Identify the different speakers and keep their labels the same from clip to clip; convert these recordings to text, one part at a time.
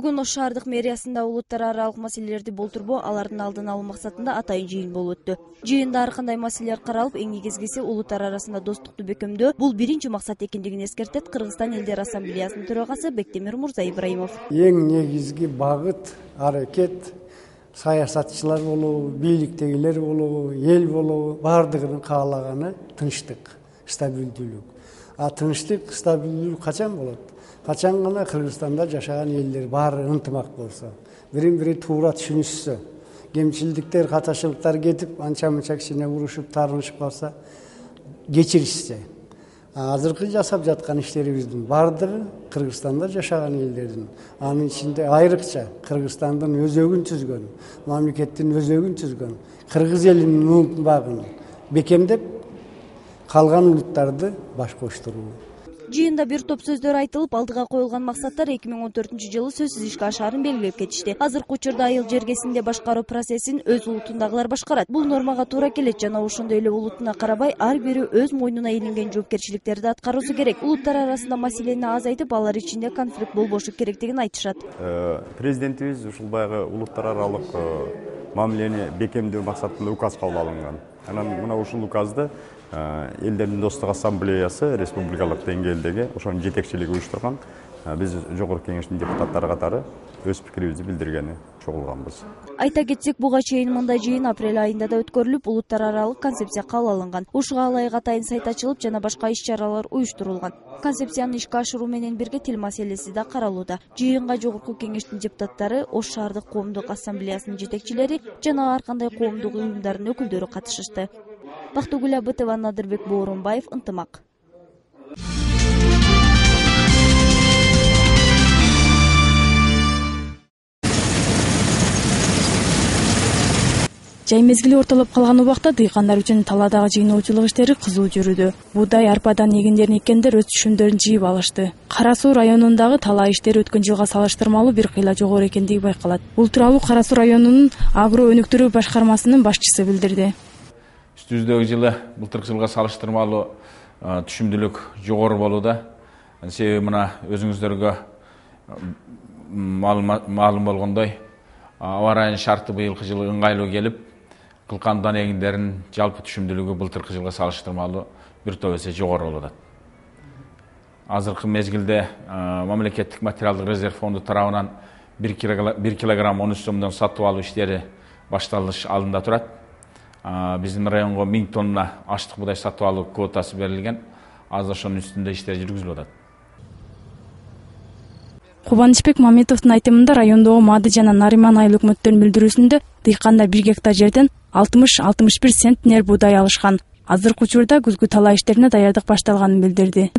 Speaker 1: Бүгүн Ош шаардык мэриясында улуттар аралык маселелерди болтурбоо, алардын алдын алуу максатында атайын жыйын болуп өттү. Жыйында ар кандай маселелер каралып, эң негизгиси улуттар арасында достукту бекемдөө. Бул биринчи максат экендигин эскертет Кыргызстан элдер ассамблеясынын төрагасы Бектемир Мурза Ибраимов.
Speaker 2: Эң негизги багыт, аракет саясатчылар болобу, бийликтегилер болобу, эл болобу, баардыгынын каалаганы тынчтык, стабилдүүлүк. Тынчтык, стабилдүүлүк качан болот? Качан гана Кыргызстанда жашаган элдер баары ынтымак болсо, бирин-бири туура түшүнүшсө, кемчилдиктер, каташылыктар кетип, анча-мынча кичине урушуп, тарынышып калса, кечиришсе. Азыркы жасап жаткан иштерибиздин баардыгы Кыргызстанда жашаган элдердин, анын ичинде айрыкча Кыргызстандын өзөгүн түзгөн, мамлекеттин өзөгүн түзгөн, кыргыз элинин ынтымагын бекемдеп, калган улуттарды баш коштуруу.
Speaker 1: Жыйында бир топ сөздөр айтылып, алдыга коюлган максаттар 2014-жылы сөзсүз ишке ашаарын белгилеп кетишти. Азыркы учурда айыл жергесинде башкаруу процессин өз улутундагылар башкарат. Бул нормага туура келет жана ошондой эле улутуна карабай, ар бири өз мойнуна илинген жоопкерчиликтерди аткаруусу керек. Улуттар арасында маселени азайтып, алар ичинде конфликт болбошу керектигин айтышат.
Speaker 3: Президентибиз ушул баягы улуттар аралык мамилени бекемдөө максатында указ кабыл алынган. Анан мына ушул указды элдердин достук ассамблеясы республикалык деңгээлдеги ошонун жетекчилиги уюштурган. Биз жогорку кеңештин депутаттары катары өз пикирибизди билдиргени чогулганбыз.
Speaker 1: Айта кетсек, буга чейин мындай жыйын апрель айында да өткөрүлүп, улуттар аралык концепция кабыл алынган. Ушуга ылайык атайын сайт ачылып, жана башка иш-чаралар уюштурулган. Концепцияны ишке ашыруу менен бирге тил маселеси да каралууда. Жыйынга жогорку кеңештин депутаттары, Ош шаардык коомдук ассамблеясынын жетекчилери жана ар кандай коомдук уюмдардын өкүлдөрү катышышты. Бактыгүл Абытова, Надырбек Боорунбаев, Ынтымак.
Speaker 4: Жай мезгили ортолоп калган убакта дыйкандар үчүн талаадагы жыйноочулук иштери кызуу жүрүүдө. Буудай, арпадан эгиндерин эккендер өз түшүмдөрүн жыйып алышты. Кара Суу районундагы талаа иштери өткөн жылга салыштырмалуу бир кыйла жогору экендиги байкалат. Бул тууралуу Кара Суу районунун агро өнүктүрүү башкармасынын башчысы билдирди.
Speaker 5: Үстүбүздөгү жылы былтыркы жылга салыштырмалуу түшүмдүүлүк жогору болууда. Себеби мына өзүңүздөргө маалым болгондой, аба ырайынын шарты быйылкы жылы ыңгайлуу келип, кылкан дан эгиндеринин жалпы түшүмдүүлүгү былтыркы жылга салыштырмалуу бир топ эсе жогору болууда. Азыркы мезгилде мамлекеттик материалдык резерв фонду тарабынан 1 килограмм 13 сомдон сатып алуу иштери башталыш алдында турат. Биздин районго 1000 тонна аштык буудай сатып алуу квотасы берилген. Азыр ошонун үстүндө иштер жүргүзүлүп атат.
Speaker 4: Кубанычбек Мамедовдун айтымында райондогу Маады жана Нариман айыл өкмөттөрүнүн билдирүүсүндө дыйкандар 1 гектар жерден 60-61 центнер буудай алышкан. Азыркы учурда күзгү талаа иштерине даярдык башталганын билдирди.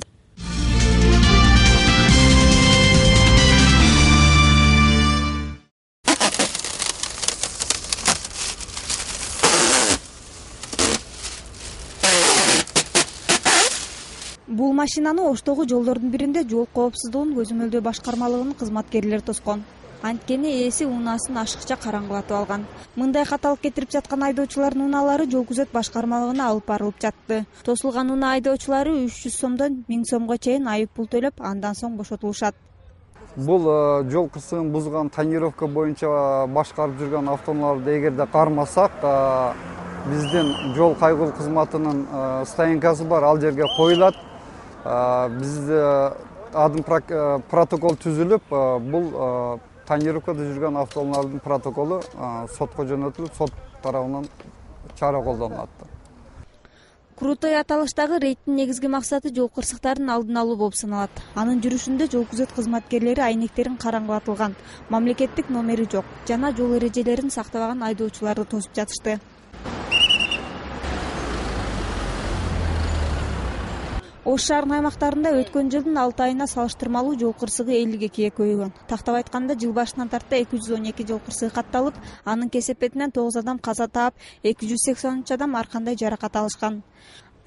Speaker 6: Бул машинаны Оштогу жолдордун биринде жол коопсуздугун көзөмөлдөө башкармалыгынын кызматкерлери тоскон. Анткени ээси унаасын ашыкча караңгылатып алган. Мындай каталык кетирип жаткан айдоочулардын унаалары жол күзөт башкармалыгына алып барылып жатты. Тосулган унаа айдоочулары 300 сомдон 1000 сомго чейин айып пул төлөп, андан соң бошотулушат.
Speaker 7: Бул жол кырсыгын бузган тонировка боюнча башкарып жүргөн автоунааларды эгерде кармасак, биздин жол кайгылуу кызматынын стоянкасы бар, ал жерге коюлат. Бизде адым протокол түзүлүп, бул тонировкада жүргөн автоунаалдын протоколу сотко жөнөтүлүп, сот тарабынан чара колдонулат.
Speaker 6: Крутой аталыштагы рейдтин негизги максаты жол кырсыктарын алдын алуу болуп саналат. Анын жүрүшүндө жол күзөт кызматкерлери айнектерин караңгылатылган, мамлекеттик номери жок жана жол эрежелерин сактабаган айдоочуларды тосуп жатышты. Ош шаарынын аймактарында өткөн жылдын 6 айына салыштырмалуу жол кырсыгы 52-ге көбөйгөн. Тактап айтканда, жыл башынан тарта 212 жол кырсыгы катталып, анын кесепетинен 9 адам каза таап, 283 адам ар кандай жаракат алышкан.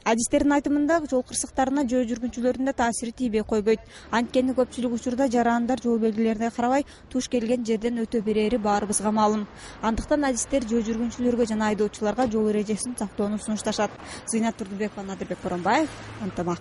Speaker 6: Адистердин айтымында, жол кырсыктарына жөө жүргүнчүлөрдүн да таасири тийбей койбойт. Анткени көпчүлүк учурда жарандар жол белгилерине карабай туш келген жерден өтө берери баарыбызга маалым. Андыктан адистер жөө жүргүнчүлөргө жана айдоочуларга жол эрежесин сактоону сунушташат. Зыйнат Турдубекова, Надырбек Боорунбаев, Ынтымак.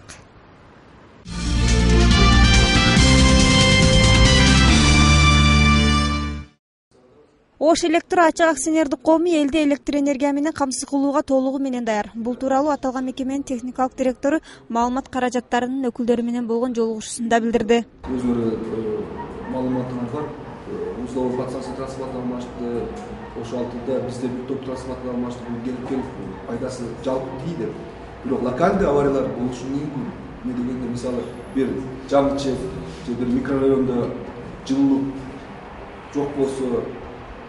Speaker 6: Ош Электро ачык акционердик коому элди электр энергия менен камсыз кылууга толугу менен даяр. Бул тууралуу аталган мекеменин техникалык директору маалымат каражаттарынын өкүлдөрү менен болгон жолугушуусунда билдирди.
Speaker 8: Өзүрө маалыматыңыз бар. Условия подстанция трансформатор алмашты. Ошол алтында бизде бир топ трансформатор алмашты. Бул келип пайдасы жалпы тийди. Бирок локалдуу авариялар болушу мүмкүн. Эмне дегенде мисалы бир жаңычек же бир микрорайондо жылуулук жок болсо,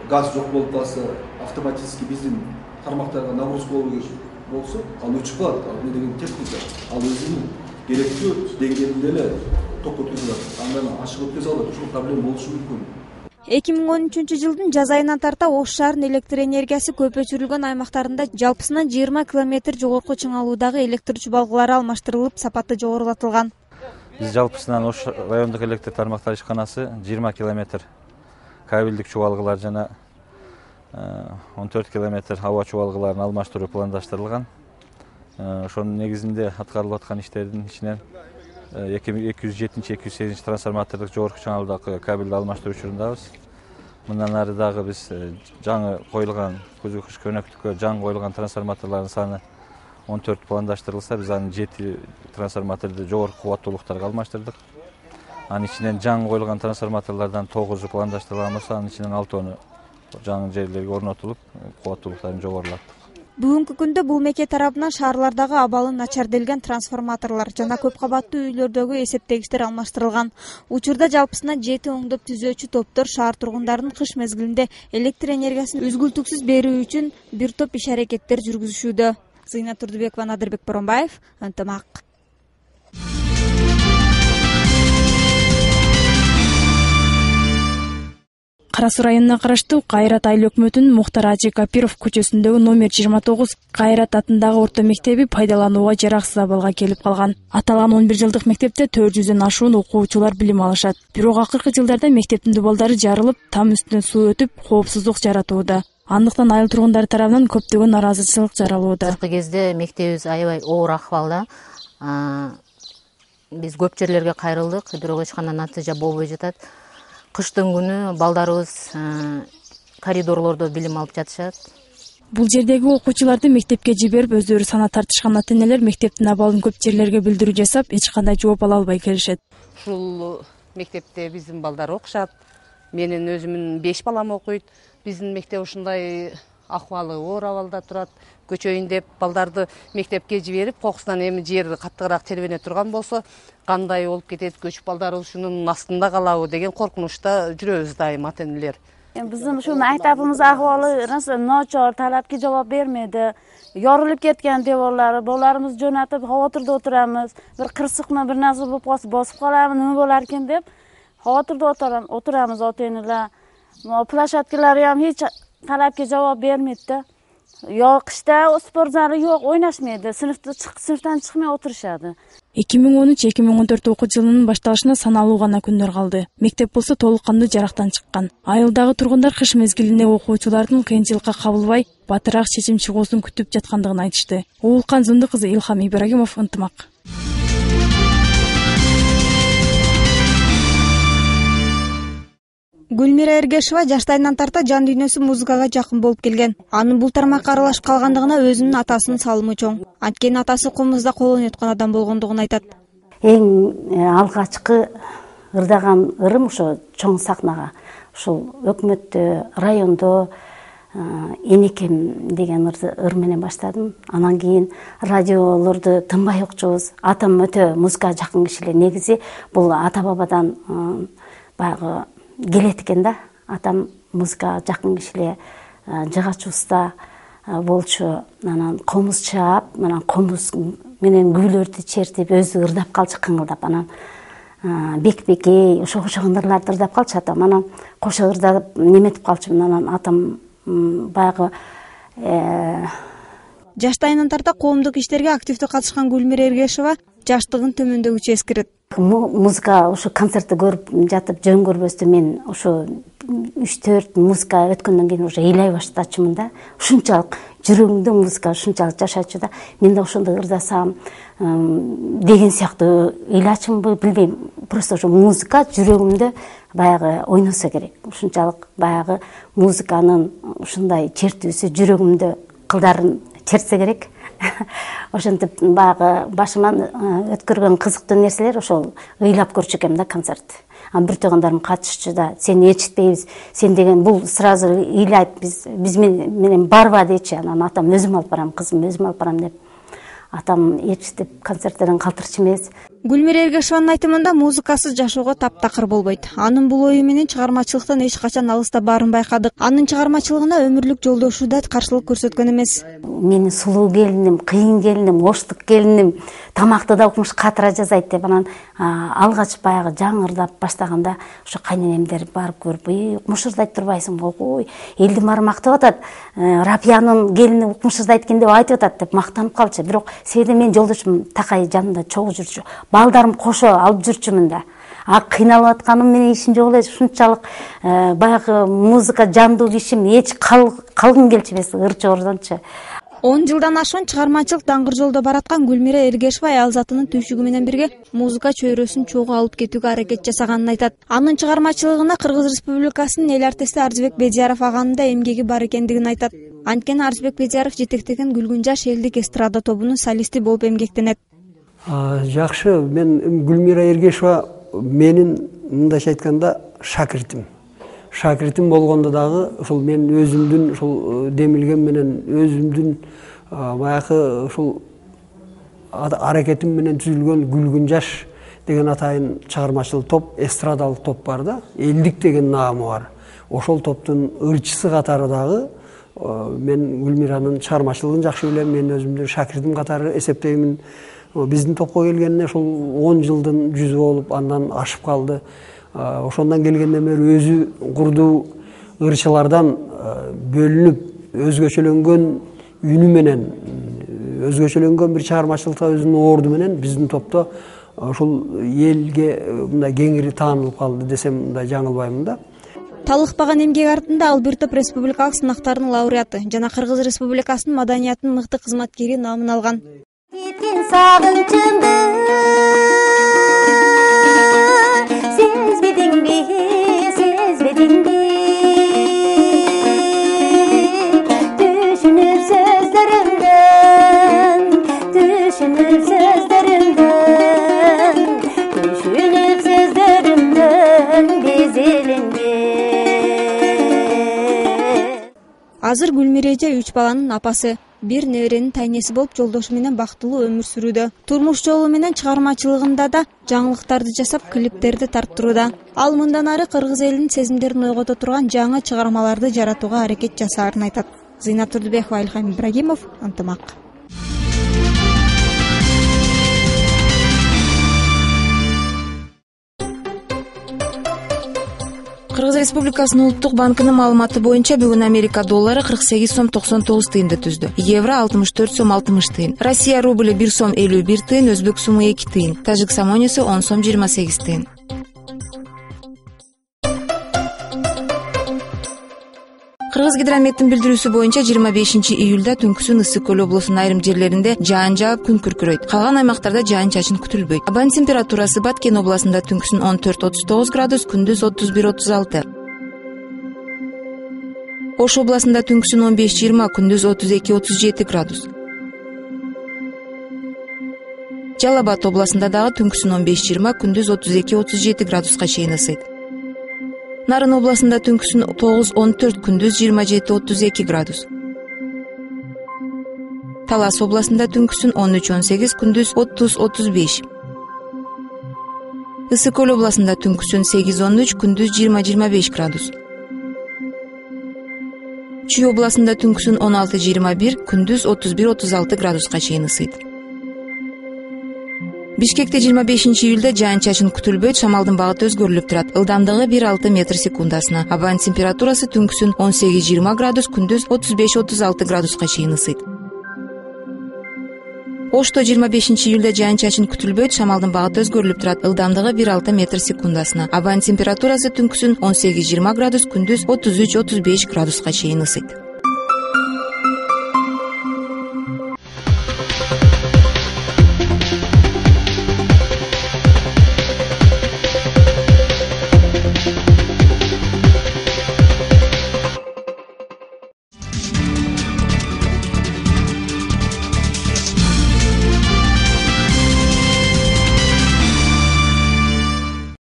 Speaker 8: газ жок болуп калса, автоматически биздин тармактарга нагрузка болсо, ал өчүп калат. Эмне деген техника, ал өзүнүн керектүү деңгээлинде эле ток өткөзүп атат. Андан ашык өткөзө албайт. Ушул проблема болушу мүмкүн.
Speaker 6: 2013-жылдын жаз айынан тарта Ош шаарынын электр энергиясы көп өчүрүлгөн аймактарында жалпысынан 20 километр жогорку чыңалуудагы электр чубалгылары алмаштырылып, сапаты жогорулатылган.
Speaker 9: Биз жалпысынан Ош райондук электр тармактар ишканасы 20 километр кабелдик чубалгылар жана 14 километр аба чубалгыларын алмаштыруу пландаштырылган. Ошонун негизинде аткарылып аткан иштердин ичинен 207-208 трансформатордук жогорку чыңалуудагы кабелди алмаштыруу учурундабыз. Мындан ары дагы биз жаңы коюлган көзгө кыш көнөктүккө жаңы коюлган трансформаторлордун саны 14 пландаштырылса, биз анын 7 трансформаторду жогорку кубаттуулуктарга алмаштырдык. Анын ичинен жаңы коюлган трансформаторлордон 9 пландаштырылган болсо, анын ичинен 6 жаңы жерлерге орнотулуп, кубаттуулуктарын жогорулаттык.
Speaker 6: Бүгүнкү күндө бул меке тарабынан шаарлардагы абалы начарделген трансформаторлор жана көп кабаттуу үйлөрдөгү эсептегичтер алмаштырылган. Учурда жалпысынан 7 оңдоп түзөөчү топтор шаар тургундарын кыш мезгилинде электр энергиясын үзгүлтүксүз берүү үчүн бир топ иш-аракеттер жүргүзүшүүдө. Зыйнат Турдубекова, Надырбек Боронбаев, Ынтымак.
Speaker 4: Кара Суу районуна караштуу Кайрат айыл өкмөтүнүн Мухтар Ажи Капиров көчөсүндөгү номер 29 Кайрат атындагы орто мектеби пайдаланууга жараксыз абалга келип калган. Аталган 11 жылдык мектепте 400дөн ашуун окуучулар билим алышат. Бирок акыркы жылдарда мектептин дубалдары жарылып, там үстүнөн суу өтүп, коопсуздук жаратууда. Андыктан айыл тургундары тарабынан көптөгөн нараазычылык жаралууда.
Speaker 10: Акыркы кезде мектебибиз аябай оор акыбалда. Биз көп жерлерге кайрылдык, бирок эч кандай натыйжа болбой жатат. Кыштын күнү балдарыбыз коридорлордо билим алып жатышат.
Speaker 4: Бул жердеги окуучуларды мектепке жиберип, өздөрү сана тартышкан ата-энелер мектептин абалын көп жерлерге билдирүү жасап, эч кандай жооп ала албай келишет.
Speaker 11: Ушул мектепте биздин балдар окушат. Менин өзүмдүн 5 балам окуйт. Биздин мектеп ушундай акыбалы оор абалда турат. Көчөйүн деп балдарды мектепке жиберип, кокусунан эми жер каттыгыраак тербене турган болсо, кандай болуп кетет, көчүп балдар ушунун астында калабы деген коркунучта жүрөбүз дайым ата-энелер.
Speaker 12: Биздин ушу мектебибиз акыбалы ночор, талапка жооп бермеди. Yorulup ketken devorlari, bolalarimiz jo'natib, xavotirda o'tiramiz. Bir qirsiqmi, bir narsa bo'lib qolsa, bosib qolarmi, nima bo'lar ekan deb xavotirda o'tiramiz ota-onalar. Plashatkalari ham hech talabga javob bermaydi. Yo qishda sport zali yo'q, o'ynashmaydi. Sinfdan chiqmay o'tirishadi.
Speaker 4: 2013-2014 окуу жылынын башталышына саналуу гана күндөр калды. Мектеп болсо толук кандуу жарактан чыккан. Айылдагы тургундар кыш мезгилинде окуучулардын кыйынчылыкка кабылбай, батыраак чечим чыгуусун күтүп жаткандыгын айтышты. Уулкан Зынды кызы Илхам Ибрагимов, Ынтымак.
Speaker 6: Гүлмира Эргешова жаштайынан тарта жан дүйнөсү музыкага жакын болуп келген. Анын бул тармакка аралашып калгандыгына өзүнүн атасынын салымы чоң. Анткени атасы комузда кол ойноткон адам болгондугун айтат.
Speaker 12: Эң алгачкы ырдаган ырым ошо чоң сахнага, ушул өкмөттө, райондо Энекем деген ыр менен баштадым. Анан кийин радиолорду тынбай окчубуз. Атам өтө музыкага жакын киши эле. Негизи бул ата бабадан баягы келет экен да. Атам музыкага жакын киши эле, жыгач уста болчу. Анан комуз чаап, анан комуз менен күбөлөрдү чертип, өзү ырдап калчу кыңылдап. Анан бек-бекей ошого окшогон ырларды ырдап калчу атам. Анан кошо ырдап неметип калчумун. Анан атам баягы
Speaker 6: жаштайынан тарта коомдук иштерге активдүү катышкан Гүлмира Эргешова жаштыгын төмөндөгүчө эскерет.
Speaker 12: Музыка ушу концертти көрүп жатып жөн көрбөстөн мен ушу 3-4 музыка өткөндөн кийин уже ыйлай баштачумун да. Ушунчалык жүрөгүмдө музыка ушунчалык жашачу да. Мен да ошондой ырдасам деген сыяктуу ыйлачумбу билбейм. Просто ошо музыка жүрөгүмдө баягы ойносо керек. Ушунчалык баягы музыканын ушундай чертүүсү жүрөгүмдө кылдарын чертсе керек. Ошентип баягы башыман өткөргөн кызыктуу нерселер ошол ыйлап көрчү экенмин да концерт. Бир туугандарым катышчу да, сени ээрчитпейбиз, сен деген бул сразу ыйлайт, биз менен барба дейчи. Анан атам өзүм алып барам, кызым өзүм алып барам деп. Атам ээрчитип концерттерден калтырчу эмес.
Speaker 6: Гүлмира Эргешованын айтымында музыкасыз жашоого таптакыр болбойт. Анын бул ою менен чыгармачылыктан эч качан алыста баарын байкадык. Анын чыгармачылыгына өмүрлүк жолдошу да каршылык көрсөткөн эмес.
Speaker 12: Менин сулуу келиним, кыйын келиним, оштук келиним тамакты да укмуш катыра жасайт деп анан алгач баягы жаңырдап баштаганда ошо кайненемдер барып көрүп, укмуш ырдайт турбайсыңбы, ой, элди баары мактап атат, Рапиянын келини укмуш ырдайт экен деп айтып атат деп мактанып калчу. Бирок себеби менин жолдошум такай жанымда чогуу жүрчү. Балдарым кошо алып жүрчүмүн да. Кыйналып атканым менен ишим жок эле, ушунчалык баягы музыка жандуу кишим, эч калгым келчү эмес ырчоордончу.
Speaker 6: 10 жылдан ашуун чыгармачылык даңгыр жолдо бараткан Гүлмира Эргешова аял затынын түйшүгү менен бирге музыка чөйрөсүн чогуу алып кетүүгө аракет жасаганын айтат. Анын чыгармачылыгына Кыргыз Республикасынын эл артисти Арзыбек Бедияров аганын да эмгеги бар экендигин айтат. Анткени Арзыбек Бедияров жетектеген Күлгүн жаш элдик эстрада тобунун солисти болуп эмгектенет.
Speaker 2: Жакшы, мен Гүлмира Эргешова менин мындайча айтканда шакиртим болгондо дагы ушул мен өзүмдүн ушул демилгем менен өзүмдүн баягы ушул аракетим менен түзүлгөн Күлгүн жаш деген атайын чыгармачыл топ, эстрадалык топ бар да, элдик деген наамы бар. Ошол топтун ырчысы катары дагы мен Гүлмиранын чыгармачылыгын жакшы билем, мен өзүмдүн шакиртим катары эсептеймин. Биздин топко келгенине ошол 10 жылдын жүзү болуп, андан ашып калды. Ошондон келгенден бери өзү курдуу ырчылардан бөлүнүп, өзгөчөлөнгөн үнү менен, өзгөчөлөнгөн бир чыгармачылыкта өзүнүн орду менен биздин топто ушул элге мындай кеңири таанылып калды десем мындай жаңылбаймын да.
Speaker 6: Талыкпаган эмгек артында ал бир топ республикалык сынактардын лауреаты жана Кыргыз Республикасынын маданияттын мыкты кызматкери наамын алган.
Speaker 13: Сагынчымды сезбедиңби түшүнүп сөздөрүмдөн безеленген.
Speaker 6: Азыр Гүлмира эже 3 баланын апасы, бир неберенин тайнеси болуп жолдошу менен бактылуу өмүр сүрүүдө. Турмуш жолу менен чыгармачылыгында да жаңылыктарды жасап, клиптерди тарттырууда. Ал мындан ары кыргыз элинин сезимдерин ойгото турган жаңы чыгармаларды жаратууга аракет жасаарын айтат. Зыйнап Турдубекова, Ильхам Ибрагимов, Ынтымак.
Speaker 4: Кыргыз Республикасынын Улуттук банкынын маалыматы боюнча бүгүн Америка доллары 48 сом 99 тыйынды түздү. Евро 64 сом 60 тыйын. Россия рублі 1 сом 51 тыйын, өзбек суму 2 тыйын. Тажик самонеси 10 сом 28 тыйын. Кыргыз гидрометтин билдирүүсү боюнча 25 июлда түнкүсүн Ысык көл облусунун айрым жерлеринде жаан жаап күн күркүрөйт. Калган аймактарда жаан чачын күтүлбөйт. Абанын температурасы Баткен областында түнкүсүн 14-39 градус, күндүз 31-36. Ош областында түнкүсүн 15-20, күндүз 32-37 градус. Жалал Абад областында дагы түнкүсүн 15-20, күндүз 32-37 градуска чейин ысыйт. Нарын областында түнкүсүн 9-14, күндүз 27-32 градус. Талас областында түнкүсүн 13-18, күндүз 30-35. Ысык көл областында түнкүсүн 8-13, күндүз 20-25 градус. Чүй областында түнкүсүн 16-21, күндүз 31-36 градуска чейин ысыйт. Бишкекте 25 июлда жаан чачын күтүлбөйт, шамалдын багыты өзгөрүлүп турат. Ылдамдыгы 1,6 метр секундасына. Абанын температурасы түнкүсүн 18-20 градус, күндүз 35-36 градуска чейин ысыйт.
Speaker 14: Ошто 25 июлда жаан чачын күтүлбөйт, шамалдын багыты өзгөрүлүп турат. Ылдамдыгы 1,6 метр секундасына. Абанын температурасы түнкүсүн 18-20 градус, күндүз 33-35 градуска чейин ысыйт.